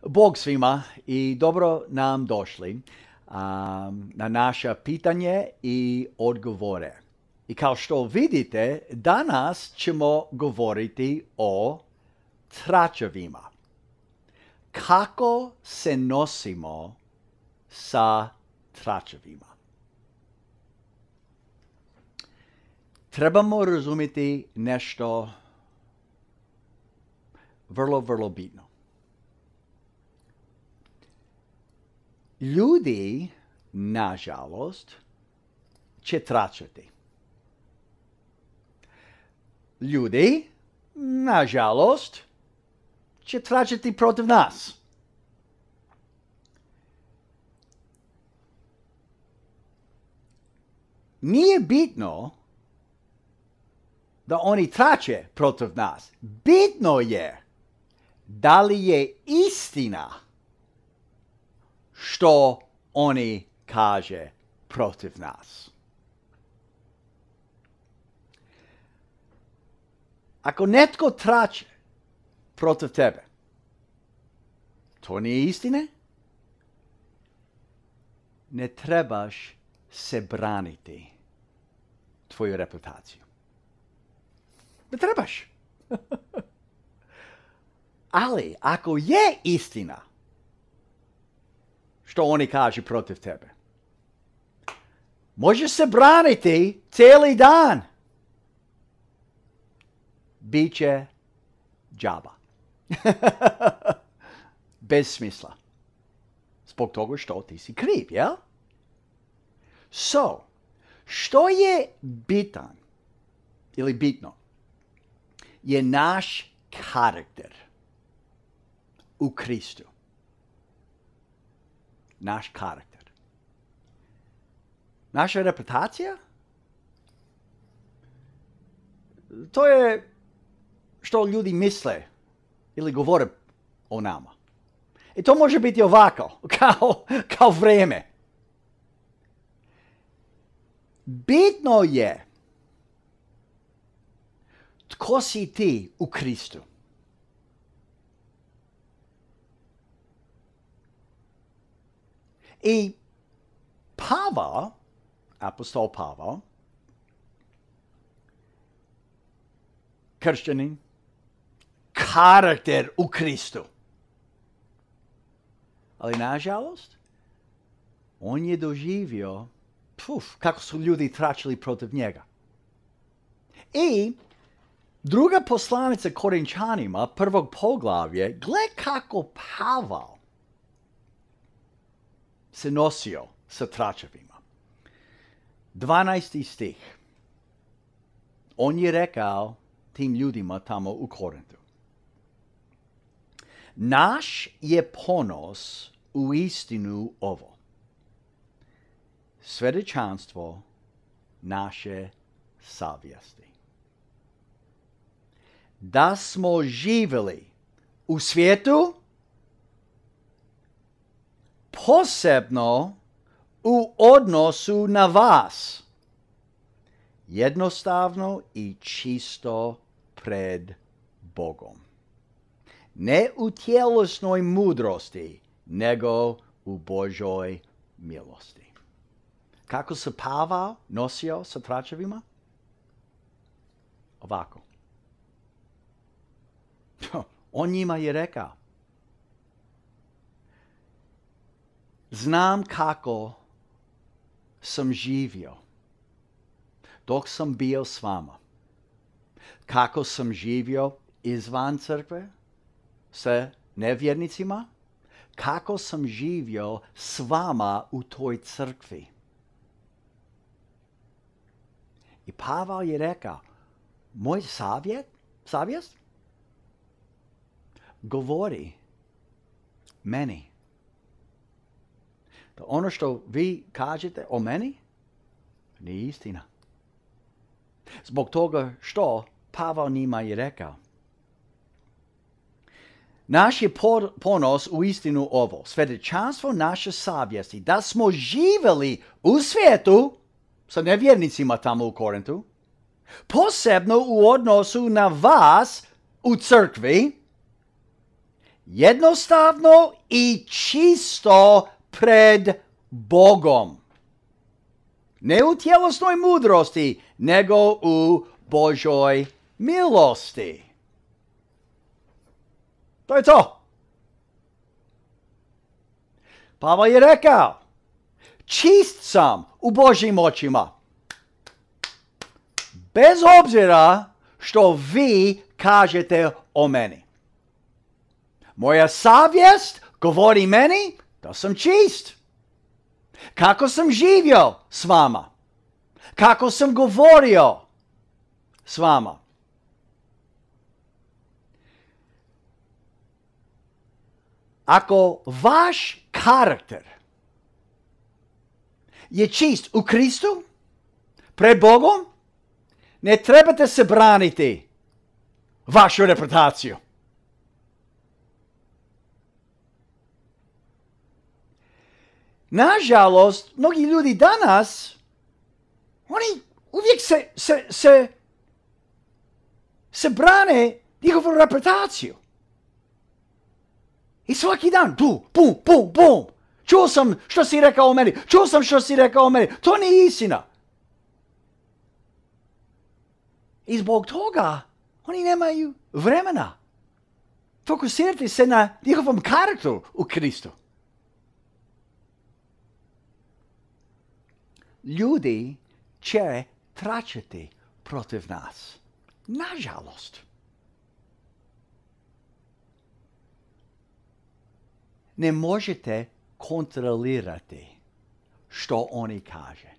Bog svima i dobro nam došli na naša pitanje i odgovore. I kao što vidite, danas ćemo govoriti o tračevima. Kako se nosimo sa tračevima? Trebamo razumjeti nešto vrlo bitno. Ljudi, nažalost, će tračati. Ljudi, nažalost, će tračati protiv nas. Nije bitno da oni trače protiv nas. Bitno je da li je istina što oni kaže protiv nas. Ako netko trače protiv tebe, to nije istine? Ne trebaš se braniti tvoju reputaciju. Ne trebaš. Ali ako je istina što oni kažu protiv tebe, možeš se braniti cijeli dan. Biće džaba. Bez smisla. Zbog toga što ti si kriv, jel? So, što je bitan ili bitno je naš karakter u Kristu. Naš karakter. Naša reputacija? To je što ljudi misle ili govore o nama. I to može biti ovako, kao vrijeme. Bitno je tko si ti u Kristu. I Pavao, apostol Pavao, kršćanin, karakter u Kristu. Ali nažalost, on je doživio kako su ljudi tračili protiv njega. I druga poslanica Korinčanima, prvog poglavlje, gle kako Pavao se nosio sa tračevima. 12. stih. On je rekao tim ljudima tamo u Korintu: naš je ponos u istinu ovo, svjedočanstvo naše savjesti. Da smo živjeli u svijetu, posebno u odnosu na vas, jednostavno i čisto pred Bogom. Ne u tjelesnoj mudrosti, nego u Božoj milosti. Kako se Pavao nosio sa tračevima? Ovako. On njima je rekao: znam kako sam živio dok sam bio s vama. Kako sam živio izvan crkve sa nevjernicima. Kako sam živio s vama u toj crkvi. I Pavao je rekao: moj savjest govori meni. Da ono što vi kažete o meni nije istina. Zbog toga što Pavao njima je rekao: naš je ponos u istinu ovo, svjedočanstvo naše savjesti, da smo živjeli u svijetu sa nevjernicima tamo u Korintu, posebno u odnosu na vas u crkvi, jednostavno i čisto pred Bogom. Ne u tjelesnoj mudrosti, nego u Božoj milosti. To je to. Pavel je rekao, čist sam u Božjim očima. Bez obzira što vi kažete o meni. Moja savjest govori meni da sam čist. Kako sam živio s vama? Kako sam govorio s vama? Ako vaš karakter je čist u Kristu, pred Bogom, ne trebate se braniti vašu reputaciju. Nažalost, mnogi ljudi danas, oni uvijek se brane njihovu reputaciju. I svaki dan, bum. Čuo sam što si rekao o meni. To nije istina. I zbog toga oni nemaju vremena. Fokusirati se na njihovom karakteru u Kristu. Ljudi će tračati protiv nas. Nažalost. Ne možete kontrolirati što oni kaže.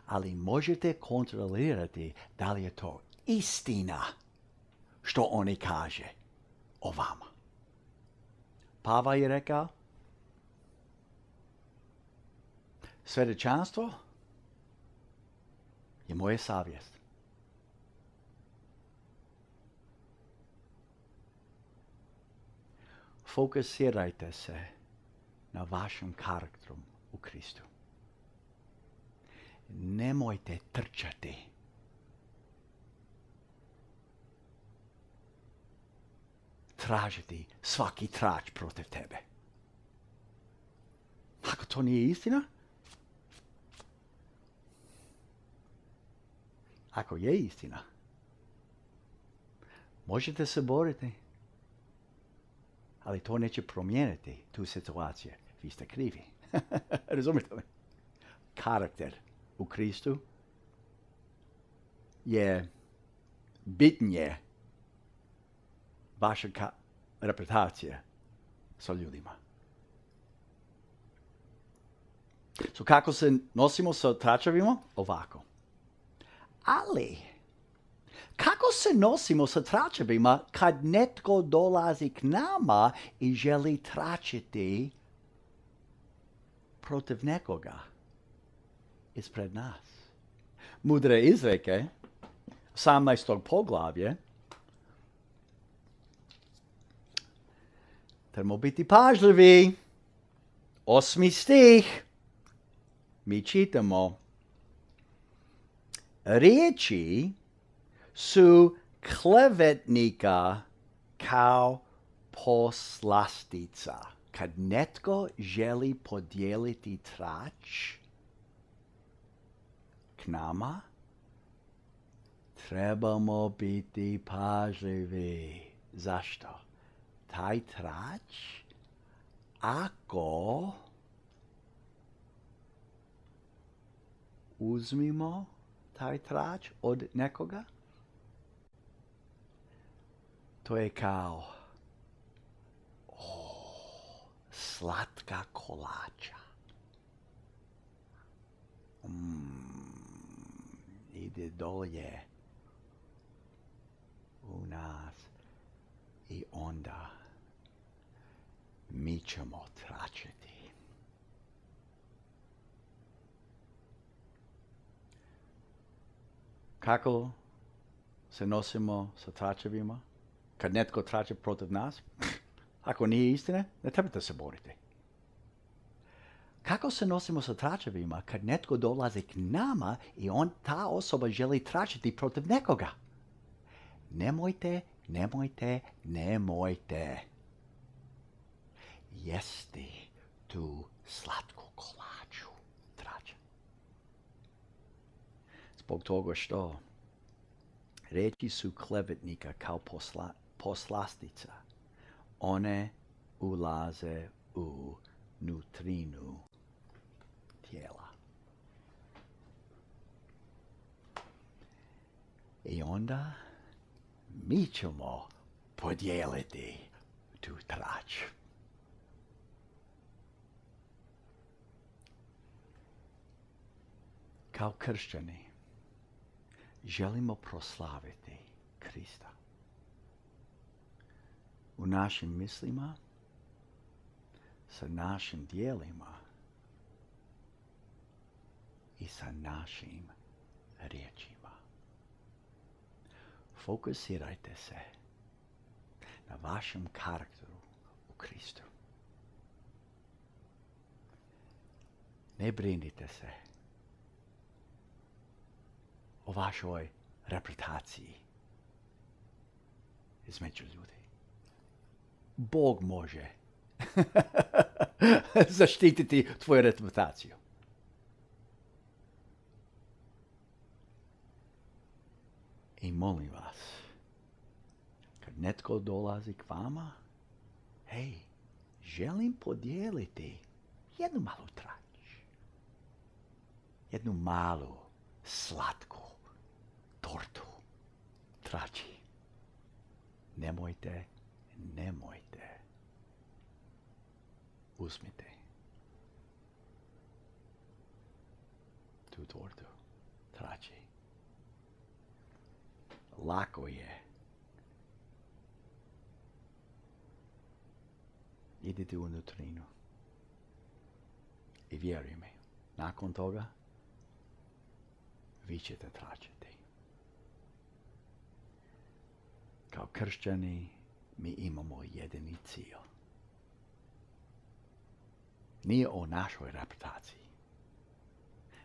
Ali možete kontrolirati da li je to istina što oni kaže o vama. Pavel je rekao, svjedočanstvo je moja savjest. Fokusirajte se na vašem karakteru u Kristu. Nemojte trčati. Tražiti svaki trač protiv tebe. Ako to nije istina, ako je istina, možete se boriti, ali to neće promijeniti tu situaciju. Vi ste krivi. Razumite li? Karakter u Kristu je bitnije vaša reputacija sa ljudima. So, kako se nosimo sa tračevima? Ovako. Ali, kako se nosimo sa tračevima kad netko dolazi k nama i želi tračiti protiv nekoga ispred nas? Mudre izreke, 18. poglavlje, trebamo biti pažljivi. 8. stih, mi čitamo, riječi su klevetnika kao poslastica. Kad netko želi podijeliti trač k nama, trebamo biti pažljivi. Zašto? Taj trač, ako uzmimo taj trač od nekoga, to je kao slatka kolača. Ide dolje u nas i onda mi ćemo tračiti. Kako se nosimo sa tračevima? Kad netko trače protiv nas? Ako nije istine, ne trebate se boriti. Kako se nosimo sa tračevima kad netko dolazi k nama i ta osoba želi tračiti protiv nekoga? Nemojte jesti tu slatku kolaču, trača. Zbog toga što reči su klevetnika kao poslastica. One ulaze u nutrinu tijela. I onda mi ćemo podijeliti tu trač. Kao kršćani želimo proslaviti Krista. U našim mislima, sa našim dijelima i sa našim riječima. Fokusirajte se na vašem karakteru u Kristu. Ne brinite se o vašoj reputaciji između ljudi. Bog može zaštititi tvoju reputaciju. I molim vas, kad netko dolazi k vama, hej, želim podijeliti jednu malu trač. Jednu malu, slatku tortu trači. Nemojte. Uzmite tu tortu trači. Lako je. Idite u nutrinu. I vjeruj mi, nakon toga vi ćete tračiti. Kao kršćani mi imamo jedini cilj. Nije o našoj reputaciji.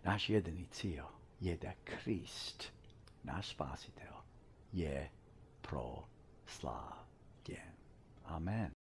Naš jedini cilj je da Krist, naš spasitelj, je proslavljen. Amen.